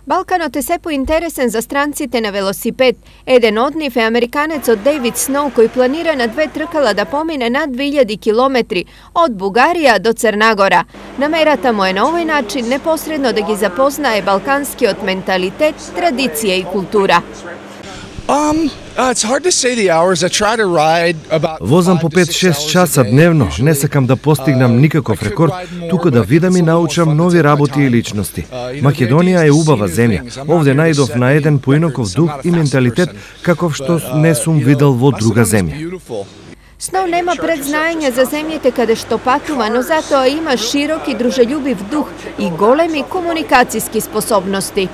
Balkanot je se pointeresen za strancite na velosiped. Eden od njih je Amerikanec od David Snow koji planira na 2 trkala da pomine na 2000 km od Bugarija do Crnagora. Namerata mu je na ovaj način neposredno da gi zapoznaje balkanski od mentalitet, tradicije i kultura. Возам по 5-6 часа дневно, не сакам да постигнам никаков рекорд, туку да видам и научам нови работи и личности. Македонија е убава земја. Овде најдов на еден поинаков дух и менталитет каков што не сум видел во друга земја. Snow nema predznanja za zemljete kada što patuma, no zato ima široki druželjubiv duh i golemi komunikacijski sposobnosti.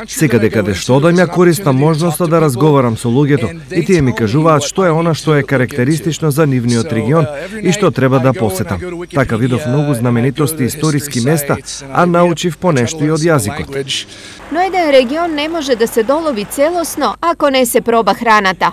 Секаде каде што одам ја користам можноста да разговарам со луѓето и тие ми кажуваат што е она што е карактеристично за нивниот регион и што треба да посетам. Така видов многу знаменитости и историски места, а научив понешто и од јазикот. Но еден регион не може да се долови целосно ако не се проба храната.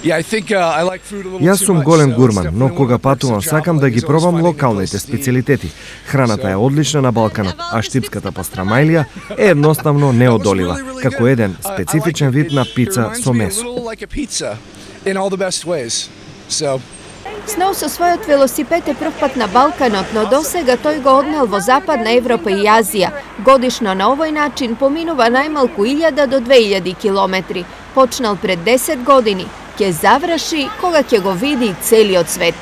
Јас сум голем гурман, но кога патувам сакам да ги пробам локалните специјалитети. Храната е одлична на Балканот, а штипската пастрамајлија е едноставно неодолива, како еден специфичен вид на пица со месо. Snow со својот велосипед е прв пат на Балканот, но досега тој го однел во Западна Европа и Азија. Годишно на овој начин поминува најмалку 1000 до 2000 километри. Почнал пред 10 години, ќе заврши кога ќе го види целиот свет.